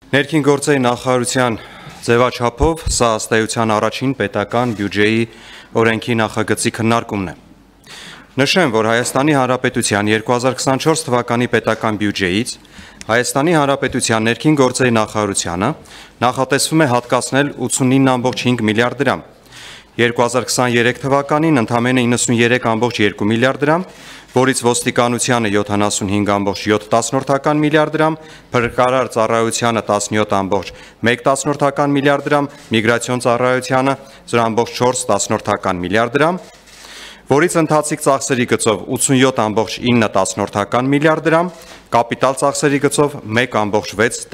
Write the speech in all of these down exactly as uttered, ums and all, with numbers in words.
Ներքին գործերի նախարարության ձևաչափով սա ըստ էության առաջին պետական բյուջեի օրենքի նախագծի քննարկումն է։ Նշեմ, որ Հայաստանի Հանրապետության երկու հազար քսանչորս թվականի պետական բյուջեից Հայաստանի Հանրապետության ներքին գործերի նախարարությանը նախատեսվում է հատկացնել ութսունինը կόμμα հինգ միլիարդ դրամ, երկու հազար քսաներեք թվականին ընդամենը իննսուներեք կόμμα երկու միլիարդ դրամ, որից ոստիկանությանը յոթանասունհինգ կόμma յոթ միլիարդ դրամ, փրկարար ծառայությանը տասնյոթ կόμμα մեկ միլիարդ դրամ, միգրացիոն ծառայությանը զրո կόμma չորս միլիարդ դրամ, որից ընթացիկ ծախսերի գծով ութսունյոթ կόμma ինը միլիարդ դրամ, կապիտալ ծախսերի գծով մեկ կόμma վեց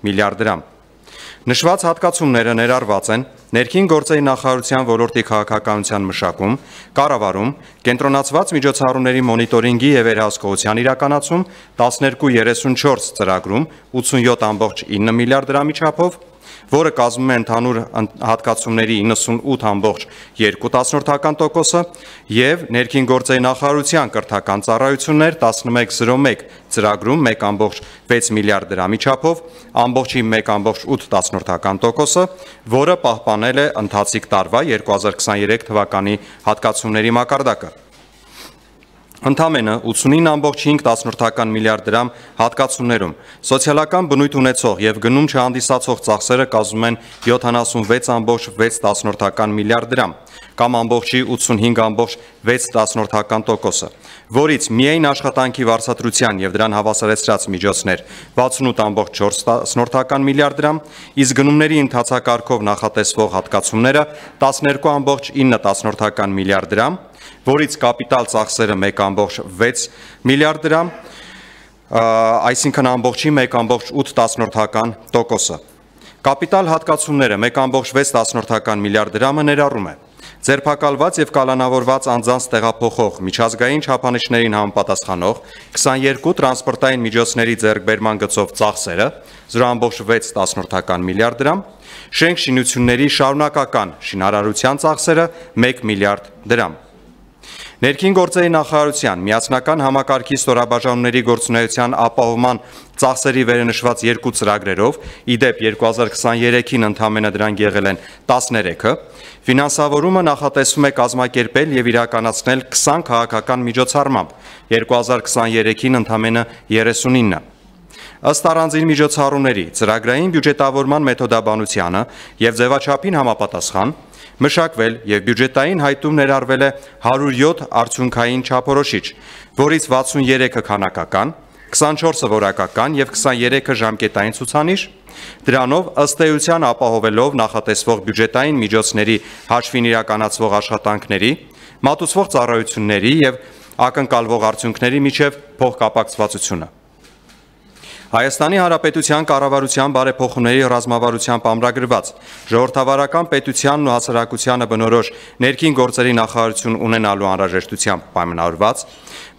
միլիարդ դրամ։ Նշված հատկացումները ներառված են ներքին գործերի նախարարության ոլորտի քաղաքականության մշակում, կառավարում, կենտրոնացված միջոցառումների մոնիտորինգի և վերահսկողության իրականացում, տասներկու երեսունչորս ծրագրում ութսունյոթ կόμma ինը միլիարդ դրամի չափով, որը կազմում է ընդհանուր հատկացումների իննսունութ կόμma երկու տոկոսը և ներքին գործերի նախարարության կրթական ծառայություններ տասնմեկ զրո մեկ ծրագրում մեկ կόμma վեց միլիարդ դրամի չափով, ամբողջի մեկ կόμma ութ տոկոսը, որը պահպանել է ընթացիկ տարվա երկու հազար քսաներեք թվականի հատկացումների մակարդակը։ Ընդամենը ութսունինը կόμma հինգ միլիարդ դրամ հատկացումներում սոցիալական բնույթ ունեցող և գնում չհանդիսացող ծախսերը կազմում են յոթանասունվեց կόμma վեց միլիարդ դրամ, կամ ամբողջի ութսունհինգ կόμma վեց տոկոսը, որից միայն աշխատանքի վարձատրության և դրան հավասարեցրած միջոցներ վաթսունութ կόμma չորս միլիարդ դրամ, իսկ գնումների ընթացակարգով նախատեսվող հատկացումները տասներկու կόμma ինը միլիարդ դրամ, որից կապիտալ ծախսերը մեկ կόμma վեց միլիարդ դրամ, այսինքն ամբողջի մեկ կόμma ութ տոկոսը։ Կապիտալ հատկացումները մեկ կόμma վեց միլիարդ դրամը ներառում է ձերբակալված և կալանավորված անձանց տեղափոխող միջազգային չափանիշներին համապատասխանող քսաներկու տրանսպորտային միջոցների ձեռքբերման գծով ծախսերը զրո կόμma վեց միլիարդ դրամ, շենք շինությունների շարունակական շինարարության ծախսերը մեկ միլիարդ դրամ։ Ներքին գործերի նախարարության միասնական համակարգի ստորաբաժանումների գործունեության ապահովման ծախսերի վերենշված երկու ծրագրերով, իդեպ երկու հազար քսաներեքին ընդամենը դրանք եղել են տասներեքը, ֆինանսավորումը նախատեսվում է կազմակերպել և իրականացնել քսան քաղաքական միջոցառմամբ, երկու հազար քսաներեքին ընդամենը երեսունինը։ Ըստ առանձին միջոցառումների ծրագրային բյուջետավորման մեթոդաբանությանը և ձևաչափին համապատասխան մշակվել և բյուջետային հայտում ներառվել է հարյուր յոթ արդյունքային չափորոշիչ, որից վաթսուներեքը քանակական, քսանչորսը որակական և քսաներեքը ժամկետային ցուցանիշ, դրանով ըստ էության ապահովելով նախատեսվող բյուջետային միջոցների հաշվին իրականացվող աշխատանքների, մատուցվող ծառայությունների և ակնկալվող արդյունքների միջև փոխկապակցվածությունը։ Հայաստանի Հանրապետության կառավարության բարեփոխումների ռազմավարությամբ ամրագրված ժողովրդավարական պետությանն ու հասարակությանը բնորոշ ներքին գործերի նախարարություն ունենալու անհրաժեշտությամբ պայմանավորված,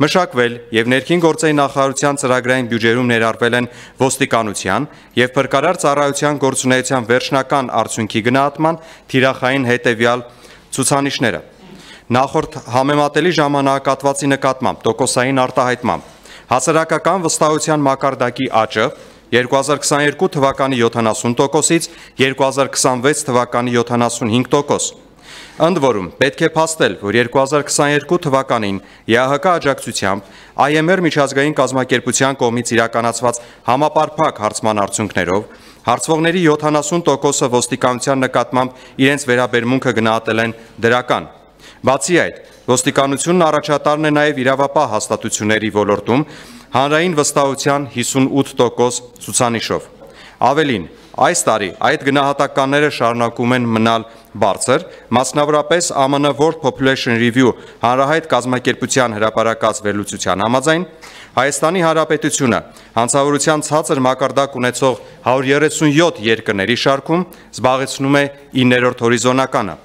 մշակվել և ներքին գործերի նախարարության ծրագրային բյուջերում ներառվել են ոստիկանության և փրկարար ծառայության գործունեության վերջնական արդյունքի գնահատման թիրախային հետևյալ ցուցանիշները. Նախորդ համեմատելի ժամանակահատվածի նկատմամբ տոկոսային արտահայտմամբ հասարակական վստահության մակարդակի աճը երկու հազար քսաներկու թվականի յոթանասուն տոկոսից երկու հազար քսանվեց թվականի յոթանասունհինգ տոկոս։ Ընդ որում, պետք է փաստել, որ երկու հազար քսաներկու թվականին ԵԱՀԿ աջակցությամբ I M R միջազգային կազմակերպության կողմից իրականացված համապարփակ հարցման արդյունքներով հարցվողների յոթանասուն տոկոսը ոստիկանության նկատմամբ իրենց վերաբերմունքը գնահատել են դրական։ Բացի այդ, ոստիկանությունն առաջատարն է նաև իրավապահ հաստատությունների ոլորտում հանրային վստահության հիսունութ տոկոս ցուցանիշով։ Ավելին, այս տարի այդ գնահատականները շարունակում են մնալ բարձր, մասնավորապես Ամն World Population Review հանրահայտ կազմակերպության հրապարակած վերլուծության համաձայն, Հայաստանի Հանրապետությունը հանցավորության ցածր մակարդակ ունեցող հարյուր երեսունյոթ երկրների շարքում զբաղեցնում է իններորդ հորիզոնականը։